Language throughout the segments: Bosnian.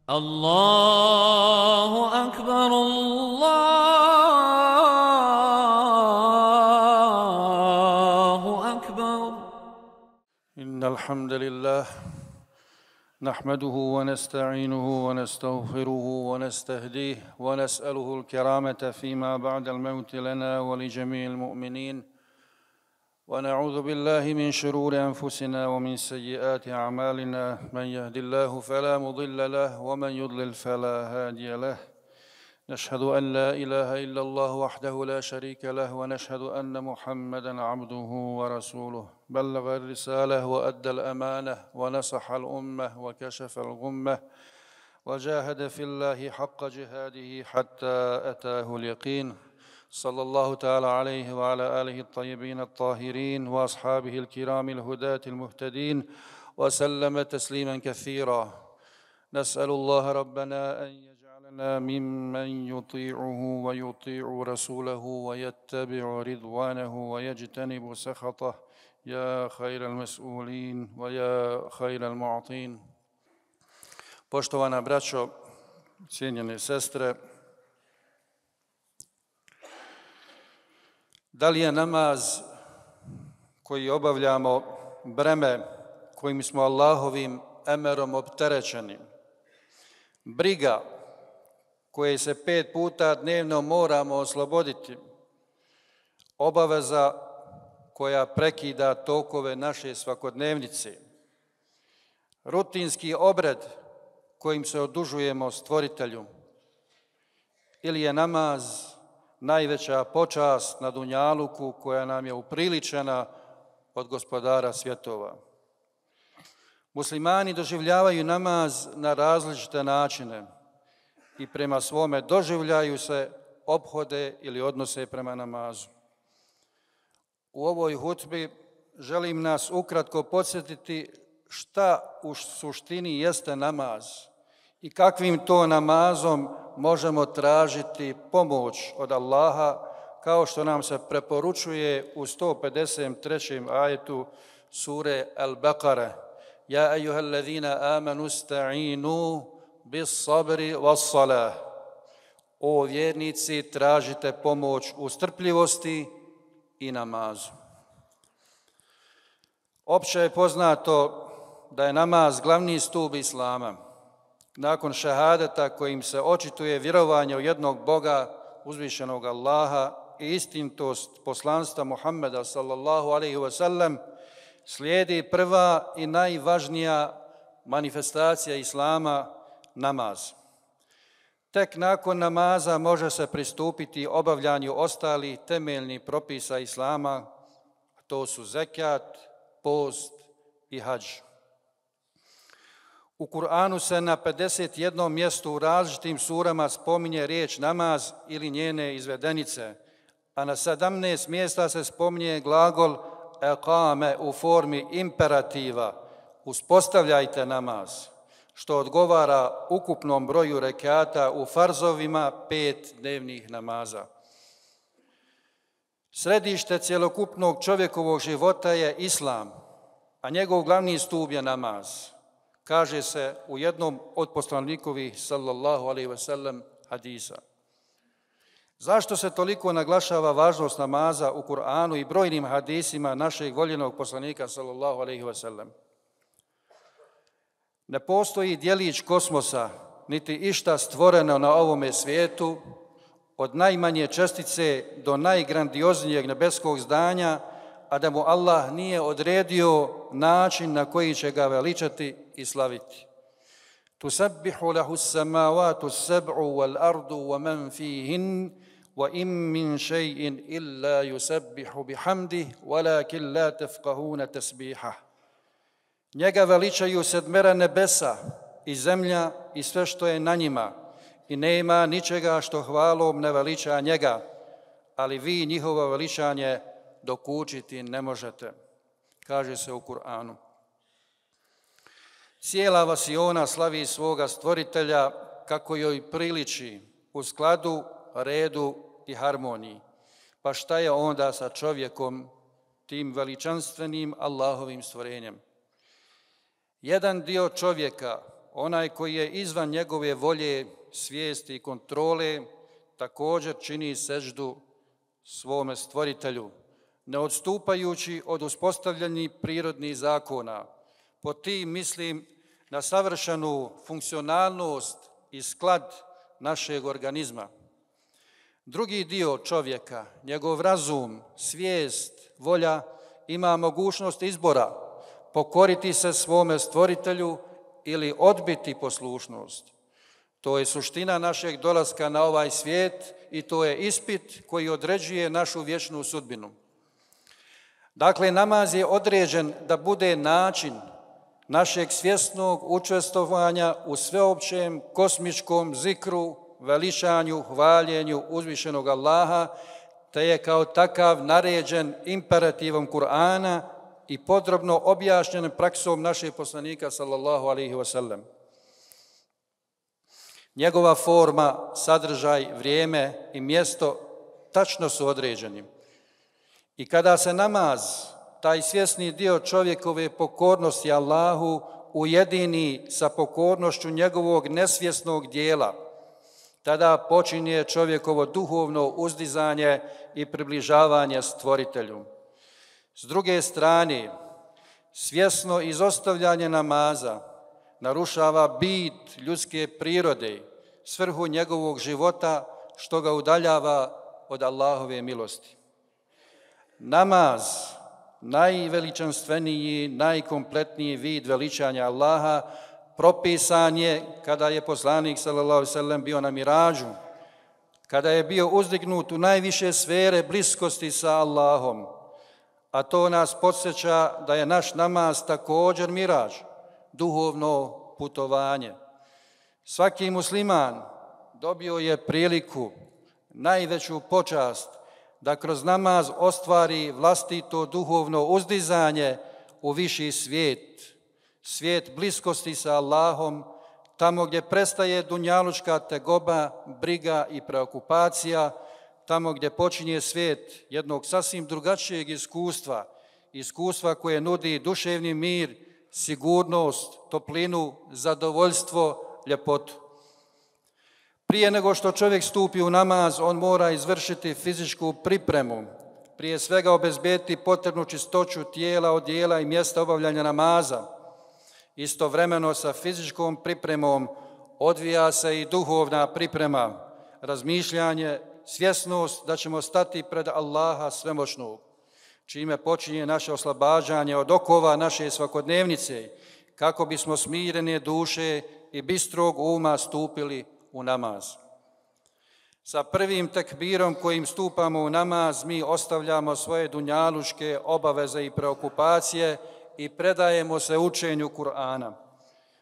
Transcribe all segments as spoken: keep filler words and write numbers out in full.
الله أكبر الله أكبر. إن الحمد لله نحمده ونستعينه ونستغفره ونستهديه ونسأله الكرامة فيما بعد الموت لنا ولجميع المؤمنين، ونعوذ بالله من شرور أنفسنا ومن سيئات أعمالنا، من يهد الله فلا مضل له ومن يضلل فلا هادي له. نشهد أن لا إله إلا الله وحده لا شريك له، ونشهد أن محمدًا عبده ورسوله، بلغ الرسالة وأدى الأمانة ونصح الأمة وكشف الغمة وجاهد في الله حق جهاده حتى أتاه اليقين. صلى الله تعالى عليه وعلى آله الطيبين الطاهرين وأصحابه الكرام الهداة المهتدين وسلم تسليما كثيرا. نسأل الله ربنا أن يجعلنا ممن يطيعه ويطيع رسوله ويتبع رضوانه ويجتنب سخطه، يا خير المسؤولين ويا خير المعطين. Poštovana braćo, cijenjene sestre, da li je namaz koji obavljamo breme kojim smo Allahovim emerom opterećeni, briga koje se pet puta dnevno moramo osloboditi, obaveza koja prekida tokove naše svakodnevnice, rutinski obred kojim se odužujemo Stvoritelju, ili je namaz najveća počast na dunjaluku koja nam je upriličena od Gospodara svjetova. Muslimani doživljavaju namaz na različite načine i prema svome doživljaju se ophode ili odnose prema namazu. U ovoj hutbi želim nas ukratko podsjetiti šta u suštini jeste namaz i kakvim to namazom možemo tražiti pomoć od Allaha, kao što nam se preporučuje u sto pedeset trećem ajetu sure Al-Baqara: Ja ejuhallazina amanu sta'inu bis sabri was salah. O vjernici, tražite pomoć u strpljivosti i namazu. Opće je poznato da je namaz glavni stup Islama. Nakon šahadeta kojim se očituje vjerovanje u jednog Boga, uzvišenog Allaha, i istinitost poslanstva Muhammeda sallallahu alejhi ve sellem, slijedi prva i najvažnija manifestacija Islama, namaz. Tek nakon namaza može se pristupiti obavljanju ostalih temeljnih propisa Islama, to su zekat, post i hadž. U Kur'anu se na pedeset jednom mjestu u različitim surama spominje riječ namaz ili njene izvedenice, a na sedamnaest mjesta se spominje glagol eqame u formi imperativa: uspostavljajte namaz, što odgovara ukupnom broju rekata u farzovima pet dnevnih namaza. Središte cjelokupnog čovjekovog života je Islam, a njegov glavni stup je namaz. Kaže se u jednom od poslanikovih sallallahu alejhi ve sellem hadisa. Zašto se toliko naglašava važnost namaza u Kur'anu i brojnim hadisima našeg voljenog poslanika sallallahu alejhi ve sellem? Ne postoji djelić kosmosa, niti išta stvoreno na ovome svijetu, od najmanje čestice do najgrandioznijeg nebeskog zdanja, a da mu Allah nije odredio način na koji će ga veličati i slaviti. Tusabbihu lahu as-samawati as-sab'u wal-ardu wa man fihin wa in min shay'in illa yusabbihu bihamdihi walakin la tafqahuna tasbihah. Njega veličaju sedmera nebesa i zemlja i sve što je na njima, i nema ničega što hvalom ne veliča njega, ali vi njihovo veličanje dokučiti ne možete, kaže se u Kur'anu. Cijela vasiona slavi svoga stvoritelja kako joj priliči, u skladu, redu i harmoniji. Pa šta je onda sa čovjekom, tim veličanstvenim Allahovim stvorenjem? Jedan dio čovjeka onaj koji je izvan njegove volje, svijesti i kontrole, također čini seždu svome stvoritelju, ne odstupajući od uspostavljenih prirodnih zakona. Po tim mislim na savršenu funkcionalnost i sklad našeg organizma. Drugi dio čovjeka, njegov razum, svijest, volja, ima mogućnost izbora, pokoriti se svome stvoritelju ili odbiti poslušnost. To je suština našeg dolaska na ovaj svijet i to je ispit koji određuje našu vječnu sudbinu. Dakle, namaz je određen da bude način našeg svjesnog učestvovanja u sveopćem kosmičkom zikru, veličanju, hvaljenju uzvišenog Allaha, te je kao takav naređen imperativom Kur'ana i podrobno objašnjen praksom našeg poslanika sallallahu alejhi ve sellem. Njegova forma, sadržaj, vrijeme i mjesto tačno su određeni. I kada se namaz, taj svjesni dio čovjekove pokornosti Allahu, ujedini sa pokornošću njegovog nesvjesnog dijela, tada počinje čovjekovo duhovno uzdizanje i približavanje stvoritelju. S druge strane, svjesno izostavljanje namaza narušava bit ljudske prirode, svrhu njegovog života, što ga udaljava od Allahove milosti. Namaz, najveličanstveniji, najkompletniji vid veličanja Allaha, propisan je kada je poslanik sallallahu alejhi ve sellem bio na mirađu, kada je bio uzdignut u najviše sfere bliskosti sa Allahom, a to nas podsjeća da je naš namaz također mirađ, duhovno putovanje. Svaki musliman dobio je priliku, najveću počast, da kroz namaz ostvari vlastito duhovno uzdizanje u viši svijet, svijet bliskosti sa Allahom, tamo gdje prestaje dunjalučka tegoba, briga i preokupacija, tamo gdje počinje svijet jednog sasvim drugačijeg iskustva, iskustva koje nudi duševni mir, sigurnost, toplinu, zadovoljstvo, ljepotu. Prije nego što čovjek stupi u namaz, on mora izvršiti fizičku pripremu, prije svega obezbediti potrebnu čistoću tijela, odjela i mjesta obavljanja namaza. Istovremeno sa fizičkom pripremom odvija se i duhovna priprema, razmišljanje, svjesnost da ćemo stati pred Allaha svemoćnog, čime počinje naše oslobađanje od okova naše svakodnevnice, kako bismo smirene duše i bistrog uma stupili u namaz. Sa prvim tekbirom kojim stupamo u namaz, mi ostavljamo svoje dunjaluške obaveze i preokupacije i predajemo se učenju Kur'ana.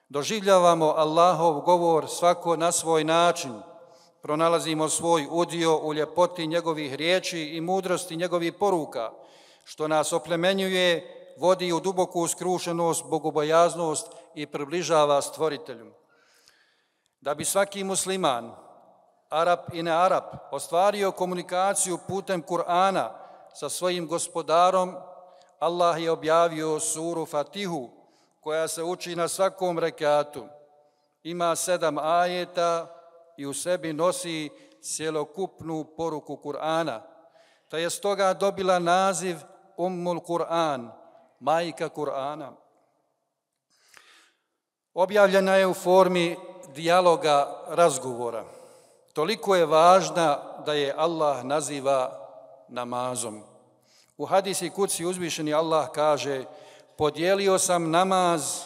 Doživljavamo Allahov govor svako na svoj način, pronalazimo svoj udio u ljepoti njegovih riječi i mudrosti njegovih poruka, što nas oplemenjuje, vodi u duboku skrušenost, bogobojaznost i približava stvoritelju. Da bi svaki musliman, Arap i ne Arap, ostvario komunikaciju putem Kur'ana sa svojim gospodarom, Allah je objavio suru Fatihu, koja se uči na svakom rekatu. Ima sedam ajeta i u sebi nosi cjelokupnu poruku Kur'ana, te je stoga dobila naziv Ummul Kur'an, majka Kur'ana. Objavljena je u formi dijaloga, razgovora. Toliko je važna da je Allah naziva namazom. U hadisi kuci uzvišeni Allah kaže: podijelio sam namaz,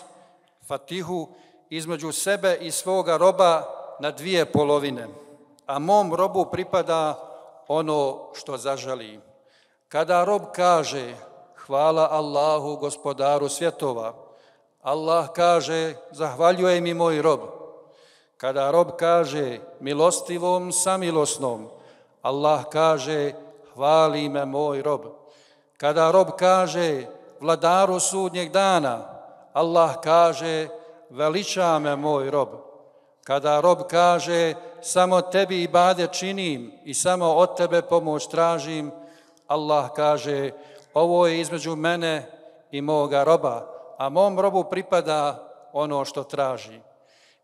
Fatihu, između sebe i svoga roba na dvije polovine, a mom robu pripada ono što zaželi. Kada rob kaže hvala Allahu, gospodaru svjetova, Allah kaže zahvaljuje mi moj rob. Kada rob kaže milostivom samilosnom, Allah kaže hvali me moj rob. Kada rob kaže vladaru sudnjeg dana, Allah kaže veliča me moj rob. Kada rob kaže samo tebi ibadet činim i samo od tebe pomoć tražim, Allah kaže ovo je između mene i moga roba, a mom robu pripada ono što traži.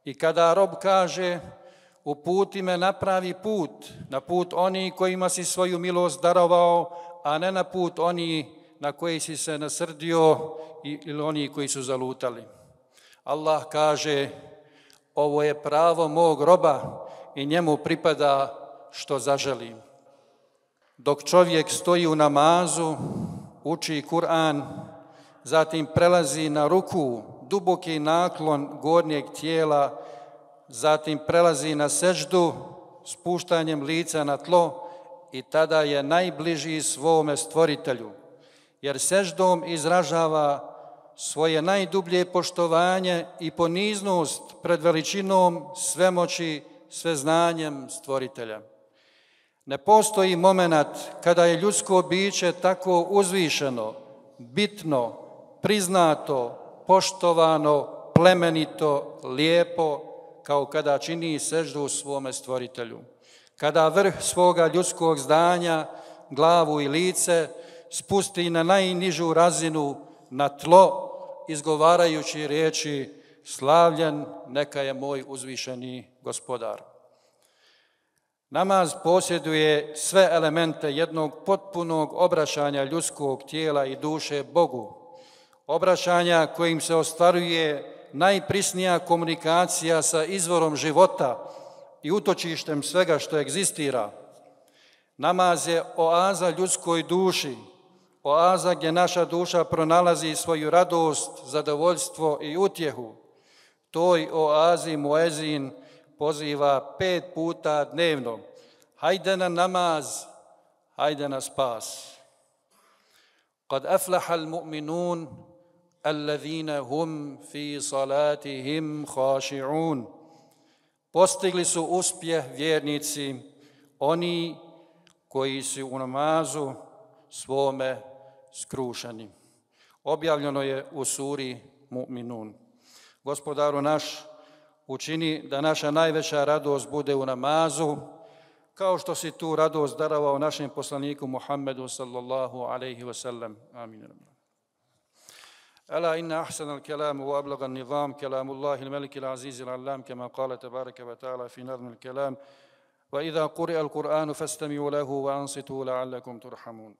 I kada rob kaže, uputi me na pravi put, na put oni kojima si svoju milost darovao, a ne na put oni na koji si se nasrdio ili oni koji su zalutali. Allah kaže, ovo je pravo mog roba i njemu pripada što zaželi. Dok čovjek stoji u namazu, uči Kur'an, zatim prelazi na ruku, duboki naklon gornjeg tijela, zatim prelazi na seždu, spuštanjem lica na tlo i tada je najbliži svome stvoritelju, jer seždom izražava svoje najdublje poštovanje i poniznost pred veličinom svemoći, sveznanjem stvoritelja. Ne postoji moment kada je ljudsko biće tako uzvišeno, bitno, priznato, poštovano, plemenito, lijepo, kao kada čini seždu svome stvoritelju. Kada vrh svoga ljudskog zdanja, glavu i lice spusti na najnižu razinu, na tlo, izgovarajući riječi slavljen neka je moj uzvišeni gospodar. Namaz posjeduje sve elemente jednog potpunog obraćanja ljudskog tijela i duše Bogu, obraćanja kojim se ostvaruje najprisnija komunikacija sa izvorom života i utočištem svega što egzistira. Namaz je oaza ljudskoj duši, oaza gdje naša duša pronalazi svoju radost, zadovoljstvo i utjehu. Toj oazi muezin poziva pet puta dnevno. Hajde na namaz, hajde na spas. Kad aflahal mu'minun, alladhina hum fi salatihim khashi'un. Postigli su uspjeh vjernici, oni koji su u namazu svome skrušeni. Objavljeno je u suri Mu'minun. Gospodaru naš, učini da naša najveća radost bude u namazu, kao što si tu radost darovao našem poslaniku Muhammedu sallallahu alaihi wa sallam. Amin. ألا إن أحسن الكلام وأبلغ النظام كلام الله الملك العزيز العلام كما قال تبارك وتعالى في نظم الكلام وإذا قرئ القرآن فاستمعوا له وأنصتوا لعلكم ترحمون